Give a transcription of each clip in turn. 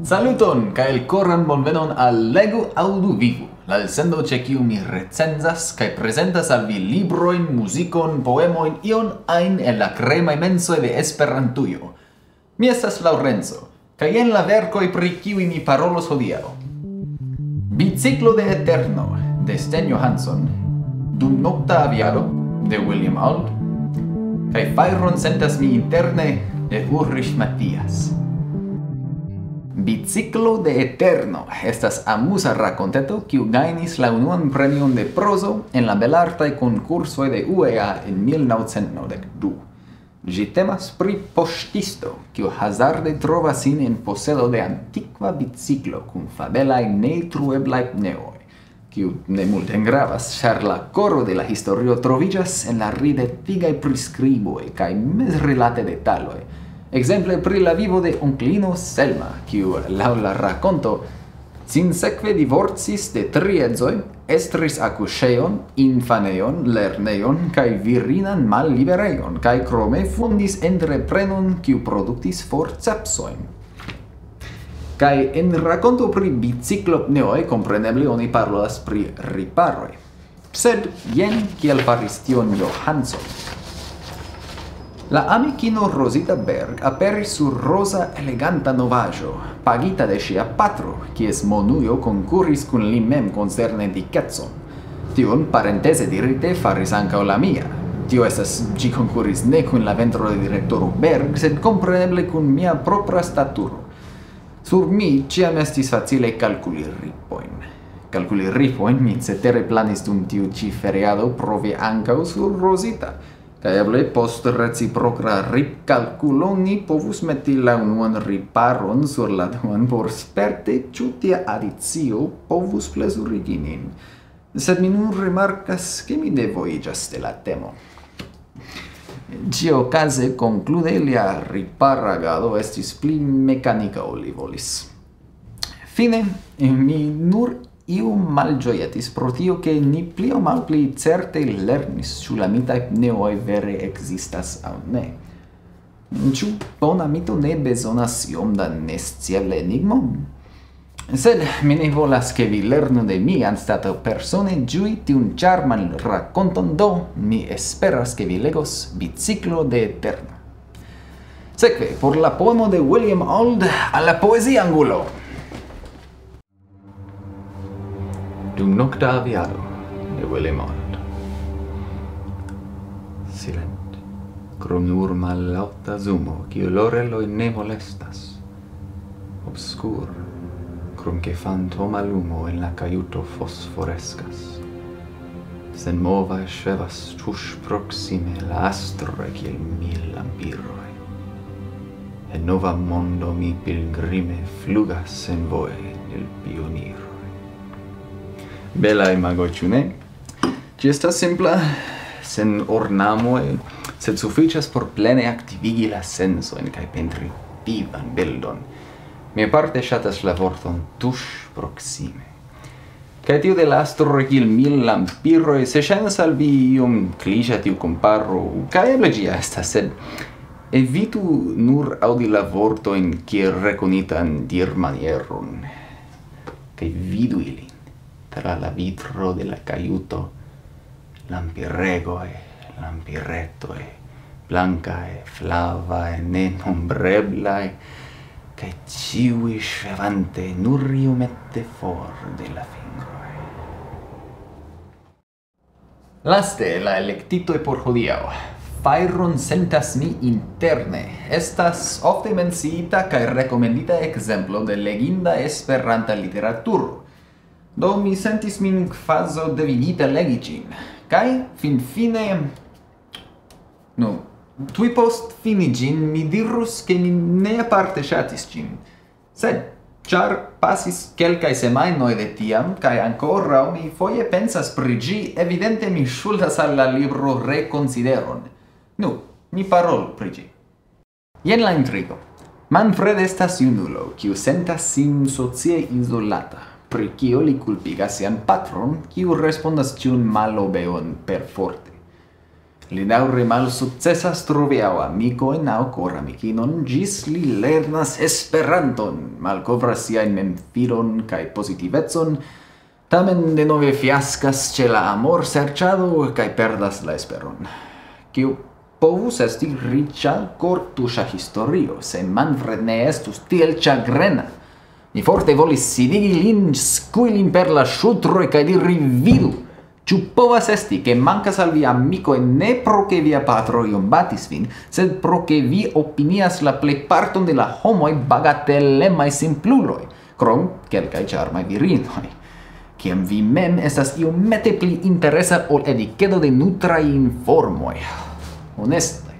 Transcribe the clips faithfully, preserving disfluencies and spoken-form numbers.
Saluton kaj elkoran bonvenon al Legu Aŭdu Vivu, la elsendo ĉe kiu mi recenzas kaj prezentas al vi librojn, muzikon, poemojn, ion ajn el la kremaj mensoj de Esperantujo. Mi estas Laŭrenco, kaj jen la verkoj, pri kiuj mi parolos hodiaŭ: Biciklo de Eterno de Sten Johansson, Dumnokta Aviado de William Auld, kaj Fajron sentas mi interne de Ulrich Mathias. Biciklo de Eterno estas amuza rakonteto, kiu gajnis la unuan premion de prozo en la belartaj konkursoj de U E A en mil naŭcent naŭdek du. Ĝi temas pri poŝtisto, kiu hazarde trovas sin en posedo de antikva biciklo kun fabelaj neeltrueblaj pneoj, kiu ne multe gravas, ĉar la koro de la historio troviĝas en la ridetigaj priskriboj kaj mezrilate detaloj. Ekzemple pri la vivo de onklino Selma, kiu, laŭ la rakonto, sinsekve divorcis de tri edzoj, estris akuŝejon, infanejon, lernejon kaj virinan malliberejon, kaj krome fondis entreprenon, kiu produktis forcepsojn. Kaj en rakonto pri biciklopneoj, kompreneble, oni parolas pri riparoj. Sed jen kiel faris tion Johansson. La amikino Rosita Berg aperis sur roza eleganta novaĵo, pagita de ŝia patro, kies monujo konkuris kun li mem koncerne dikecon. Tion, parenteze dirite, faris ankaŭ la mia. Tio estas, ĝi konkuris ne kun la ventro de direktoro Berg, sed kompreneble kun mia propra staturo. Sur mi ĉiam estis facile kalkuli ripojn. Kalkuli ripojn mi cetere planis dum tiu ĉi feriado provi ankaŭ sur Rosita. Kaj eble post reciproka ripkalkulo ni povus meti la unuan riparon sur la duan por sperte, ĉu tia adicio povus plezurigi nin. Sed mi nun rimarkas, ke mi devoiĝas de la temo. Ĉiuokaze, konklude, lia ripara agado estis pli mekanika, ol li volis. Fine, mi nur iu malĝojetis pro tio, ke ni pli aŭ malpli certe lernis, ĉu la mitaj pneoj vere ekzistas aŭ ne. Ĉu bona mito ne bezonas iom da nesciebla enigmo? Sed mi ne volas, ke vi lernu de mi anstataŭ persone ĝui tiun ĉarman rakonton, do mi esperas, ke vi legos Biciklo de Eterno. Sekve, por la poemo de William Auld, al la poezia angulo. Dum nokta aviado de William Auld. Silent, krom nur mallaŭta zumo, kiu loreloj ne molestas. Obskur, krom ke fantoma lumo en la kajuto fosforeskas. Senmova ŝvebas tuŝ proksime la astro kiel mil lampiroj. En nova mondo mi pilgrime flugas senvoje el pioniroj. Bela imago, ĉu ne? Ĝi estas simpla, sen ornamoj, sed sufiĉas por plene aktivigi la sensojn kaj pentri vivan bildon. Mi aparte ŝatas la vorton tuŝ proksime. Kaj tiu de la astro kiel mil lampiroj, se ŝajnas al vi iom kliŝa tiu komparo, kaj eble ĝi estas, sed evitu nur aŭdi la vortojn kiel rekonitan dirmanieron, kaj vidu ilin tra la vitro de la kajuto, lampiregoj, lampiretoj, blankaj, flavaj, nenombreblaj, kaj ĉiuj ŝvebante nur iomete for de la fingroj. Laste, la elektitoj por hodiaŭ. Fajron sentas mi interne. Estas ofte menciita kaj rekomendita ekzemplo de leginda Esperanta literaturo. Do mi sentis min kvazaŭ devigita legi ĝin. Kaj finfine, nu, tuj post fini ĝin, mi dirus, ke mi ne aparte ŝatis ĝin. Sed, ĉar pasis kelkaj semajnoj de tiam, kaj ankoraŭ mi foje pensas pri ĝi, evidente mi ŝuldas al la libro rekonsideron. Nu, ni parolu pri ĝi. Jen la intrigo. Manfred estas junulo, kiu sentas sin socie izolata, pri kio li kulpigas sian patron, kiu respondas ĉiun malobeon perforte. Li daŭre malsukcesas trovi aŭ amikojn aŭ koramikinon, ĝis li lernas Esperanton, malkovras siajn memfidon kaj pozitivecon, tamen denove fiaskas ĉe la amorserĉado kaj perdas la esperon. Kiu povus esti riĉa, kortuŝa historio, se Manfred ne estus tiel ĉagrena? Mi forte volis sidigi lin, skui lin per la ŝultroj kaj diri: "Vidu! Ĉu povas esti, ke mankas al vi amikoj ne pro ke via patro iom batis vin, sed pro ke vi opinias la plejparton de la homoj bagatelemaj simpluloj, krom kelkaj ĉarmaj virinoj? Kiam vi mem estas iomete pli interesa ol edikedo de nutraj informoj." Honeste,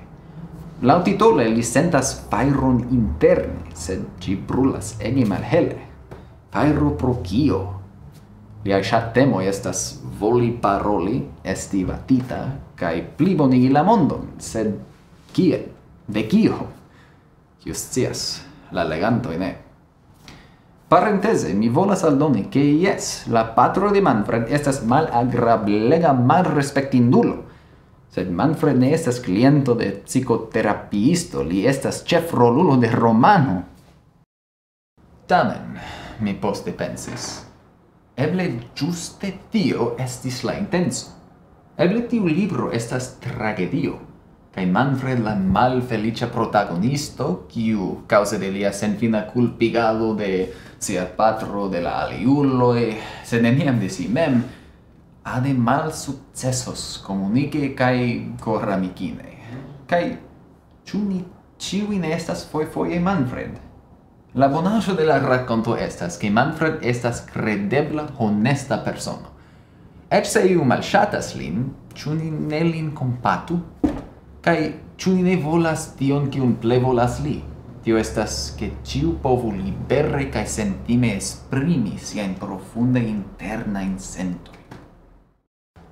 laŭtitole li sentas fajron interne, sed ĝi brulas ege malhele. Fajro pro kio? Liaj ŝattemoj estas voli paroli, esti batita, kaj plibonigi la mondon, sed kiel? De kio? Kiu scias? La legantoj ne. Parenteze, mi volas aldoni, ke jes, la patro de Manfred estas malagrablega malrespektindulo. Sed Manfred ne estas kliento de psikoterapiisto, li estas ĉefrolulo de romano. Tamen, mi poste pensis, eble ĝuste tio estis la intenco. Eble tiu libro estas tragedio, kaj Manfred la malfeliĉa protagonisto, kiu, kaŭze de lia senfina kulpigado de sia patro, de la aliuloj, sed neniam de si mem, ade malsukcesos komunike kaj koramikine. Kaj ĉu ni ĉiuj ne estas fojfoje Manfred? La bonaĵo de la rakonto estas, ke Manfred estas kredebla, honesta persono. Eĉ se iu malŝatas lin, ĉu ni ne lin kompatu? Kaj ĉu ni ne volas tion, kiun plevolas li? Tio estas, ke ĉiu povu libere kaj sentime esprimi siajn profunde internajn sentojn.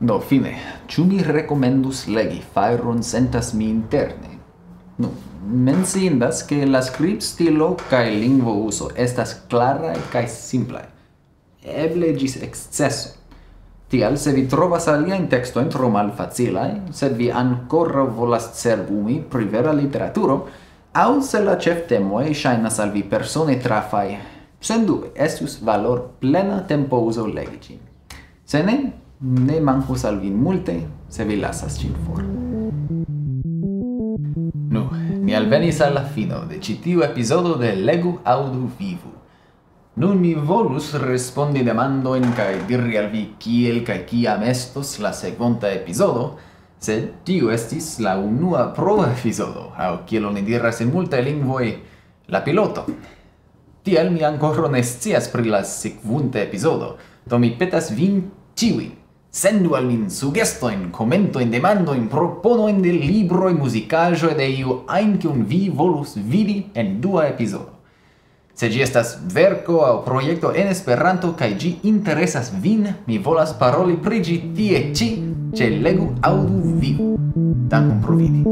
Do, fine, ĉu mi rekomendus legi Fajron sentas mi interne? Nu, menciindas, ke la skribstilo kaj lingvouzo estas klaraj kaj simplaj. Eble ĝis eksceso. Tial, se vi trovas aliajn tekstojn tro malfacilaj, sed vi ankoraŭ volas cerbumi pri vera literaturo, aŭ se la ĉeftemoj ŝajnas al vi persone trafaj, sendube estus valorplena tempouzo legi ĝin. Se ne, ne mankus al vi multe, se vi lasas ĝin for. Nu, ni alvenis al la fino de ĉi tiu epizodo de Legu, Aŭdu, Vivu. Nun mi volus respondi demandojn kaj diri al vi, kiel kaj kiam estos la sekvonta epizodo, sed tiu estis la unua prova epizodo, aŭ kiel oni diras en multaj lingvoj, la piloto. Tial mi ankoraŭ ne scias pri la sekvonta epizodo, do mi petas vin ĉiujn: sendu al min sugestojn, komentojn, demandojn, proponojn de libroj, muzikaĵoj, de iu ajn, kiun vi volus vidi en dua epizodo. Se ĝi estas verko aŭ projekto en Esperanto kaj ĝi interesas vin, mi volas paroli pri ĝi tie ĉi, ĉe Legu, Aŭdu, Vivu. Dankon pro vidi.